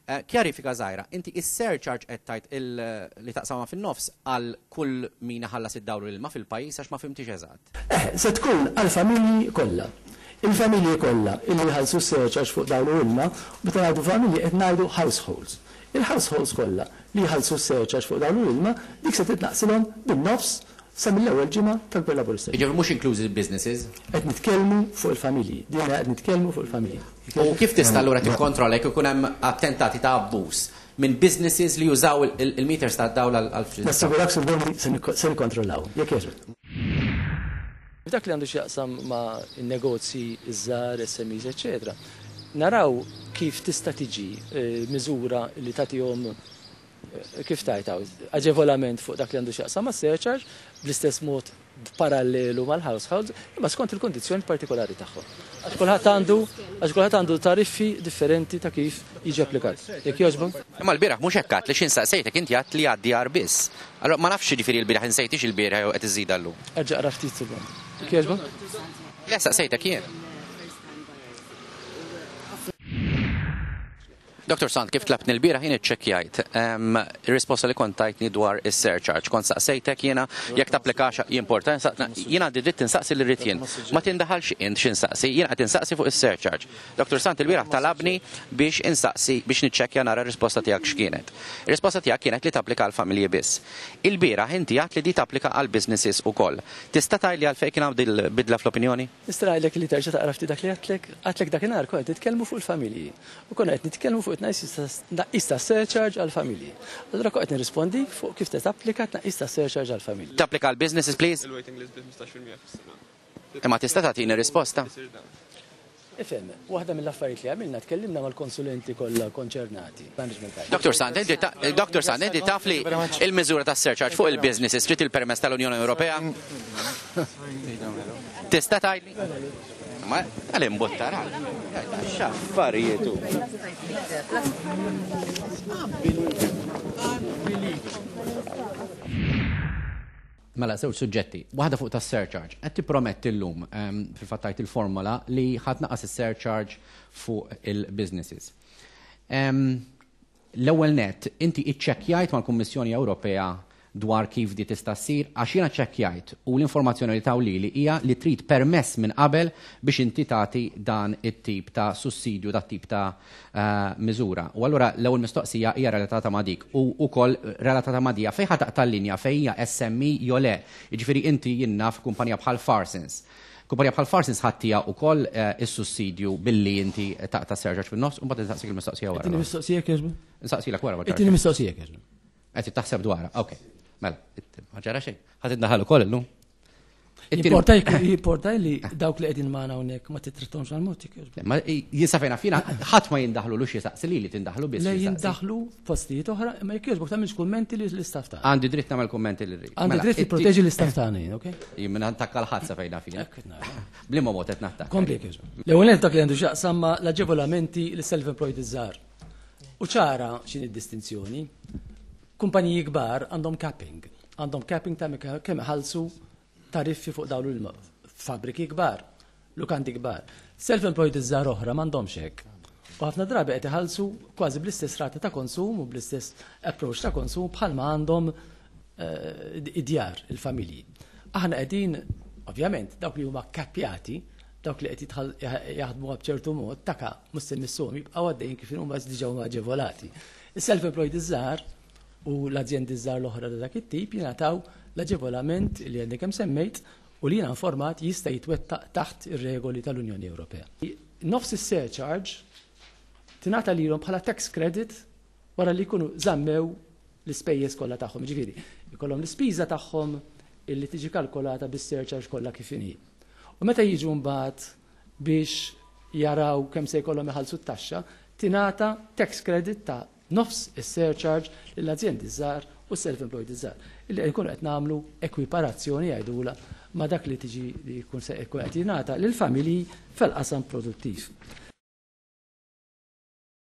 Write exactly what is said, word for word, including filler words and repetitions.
Eh, Kjarifika żgħira, inti is-surcharge qed tgħid il- li taqsamha fin-nofs għal kull min iħallas id-dawl u l-ilma fil-pajjiż, għax ma fhimtix eżatt. Eh, se tkun għal-familji kollha. Il-familji kollha illi jħallsu surcharge fuq dawl u ilma, u meta ngħidu familji qed ngħidu households. Il-households kollha li jħallsu surcharge fuq dawl u ilma, dik se titnaqsilhom bin-nofs sa mill-ewwel ġimgħa tal-Gvern Laburista. Jiġifieri mhux inklużi businesses. Qed nitkellmu fuq il-familji. Din qed nitkellmu fuq il-familji. U kif tista' allura tikkontrolla jekk ikun hemm attentati ta' abbuż minn businesses li jużaw il- il-meters ta' dawl għal Nassigurak, Sur Borni, se nikko- se nikkontrollaw. Jekk jogħġbok. Dak li għandu x'jaqsam ma' negozji iż-żgħar, S M Es, eċetera. Naraw kif tista' tiġi eh, miżura li tagħtihom eh, kif tajtaw, aġevolament fuq dak li għandu x'jaqsam ma' surcharge bl-istess mod parallelu mal-households, imma skont il-kondizzjoni partikolari tagħhom. Għax kulħadd għandu għax kulħadd għandu tariffi differenti ta' kif jiġi applikat. Jekk jogħġbok? Imma l-bieraħ mhux hekk għedt li x'ħin saqsejtek inti għedt li għad-djar biss. Allora ma nafx, ġifieri l-bieraħ insejtix il-bieraħ jew qed iżida llum. Erġa' qra ftit sekonda. Jekk jogħġbok? Le, saqsejtek jien. Doktor Sant, kif tlabtni l-bieraħ jien iċċekkjajt Em, ir-risposta li kont tajtni dwar is-surcharge. Kont saqsejtek jiena jekk tapplikax jimporta. Jien għandi dritt insaqsi li rrid jien. Ma tindaħalx int x'insaqsi, jien qed insaqsi fuq is-surcharge. Doktor Sant il-bieraħ talabni biex insaqsi biex niċċekkja nara r-risposta tiegħek x'kienet. Ir-risposta tiegħek kienet li tapplika għal familji biss. Il-bieraħ inti għedt li di tapplika għal businesses ukoll. Tista' tgħidli għalfejn kien hawn dil-bidla fl-opinjoni? Nista' ngħidlek li terġa' taqra ftit dak li għedtlek, għedtlek dakinhar konna qed nitkellmu fuq il-familji. U konna qed nitkellmu fuq tnaqqis ta' surcharge għal-familji. Allura kont qed nirrispondi fuq kif se tapplika tnaqqis ta' surcharge għal-familji. Tapplika għal businesses, please? Il-waiting list bi ħmistax fil-mija fis-sena. Imma tista' tagħtini risposta? Isir dan. Ifhem, waħda mill-affarijiet li għamilna, tkellimna mal-konsulenti kollha konċernati. Management time. Doktor Sant, inti ta- Doktor Sant, inti taf li il-miżura ta' surcharge fuq il-businesses trid il-permess tal-Unjoni Ewropea? Tista' tgħidli? Ma għal-imbuttar, x'affarijiet hu. Mela, żewġ suġġetti. Waħda fuq tas surcharge. Qed tipprometti llum, ehm, fil-fatt tajt il-formola li ħa tnaqqas is-surcharge fuq il-businesses. Ehm, L-ewwel net, inti iċċekkjajt mal-Kummissjoni Ewropea dwar kif di tista' ssir, għax jiena ċċekkjajt u l-informazzjoni li taw lili hija li trid permess minn qabel biex inti tagħti dan it-tip ta' sussidju, dat tip ta' eh, miżura. U allura l-ewwel mistoqsija hija relatata ma' dik u wkoll relatata ma' dija fejn ħa taqta' l-linja fejn hija S M E jew le. Jiġifieri inti jien naf kumpanija bħal Farsons. Kumpanija bħal Farsons ħa ttiha wkoll eh, is-sussidju billi inti taqta' surcharge fin-nofs, u mbagħad insaqsik il-mistoqsija wara. It-tieni mistoqsija kieġbu? Insaqsilek wara. Ma It-tieni mistoqsija kieġbu. Qed taħseb dwarha. Ok. Mela, ma ġara xejn. Ħa tindaħal ukoll illum. It-tieni- Jimporta jimporta li dawk li qegħdin magħna hawnhekk ma titrittomx għal-mod jekk. Ma jien sa fejn naf jiena ħadd ma jindaħlu lu xi saqsi li li tindaħlu biss. Le, xi saqsi. jindaħlu postijiet oħra, imma jekk jogħġbok tagħmilx kummenti li l-istaff tagħna. Għandi dritt nagħmel kummenti li rrid. Għandi Mela, dritt it-ti- jipproteġi l-istaff tagħna jien, ok? Jien minn attakka l-ħadd sa fejn naf jiena. Hekk qed nara. B'liema mod qed nattakka? Kompli jekk jogħġbok. L-ewwel nett dak li għandu x'jaqsam ma' l-aġevolamenti lis-self-employed iż-żgħar. U ċara x'inhi d-distinzjoni. Kumpaniji kbar għandhom capping. Għandhom capping ta' kemm iħallsu tariffi fuq dawn l Fabbriki kbar, lukandi kbar. Self-employed iż-żgħar oħra m'għandhomx hekk. U ħafna drabi qed iħallsu kważi bl-istess rata ta' konsum u bl-istess approach ta' konsum bħalma għandhom eh, id-djar, il-familji. Aħna qegħdin, ovvjament, dawk li huma kappjati, dawk li qed jitħall- jaħdmu b'ċertu mod, taka mhux se missuhom, jibqgħu għaddejjin kif huma, diġà huma aġevolati. Is-self-employed iż-żgħar u l-azjendi żgħar l-oħra ta' dak it-tip jingħataw l-aġevolament li għandek kemm semmejt u li jiena informat jista' jitwettaq taħt ir-regoli tal-Unjoni Ewropea. Nofs is-surcharge tingħata lilhom bħala tax credit wara li jkunu żammew l-ispejjeż kollha tagħhom. Ġifieri, ikollhom l-ispiża tagħhom illi tiġi kalkolata bis-surcharge kollha kif inhi. U meta jiġu mbagħad biex jaraw kemm se jkollhom iħallsu t-taxxa, tingħata tax credit ta' nofs is-surcharge lill-azjendi żgħar u self-employed iż-żgħar. Illi jkunu qed nagħmlu ekwiparazzjoni jgħidula ma' dak li tiġi li jkun se jkun qed jingħata lill-familji fil-qasam produttiv.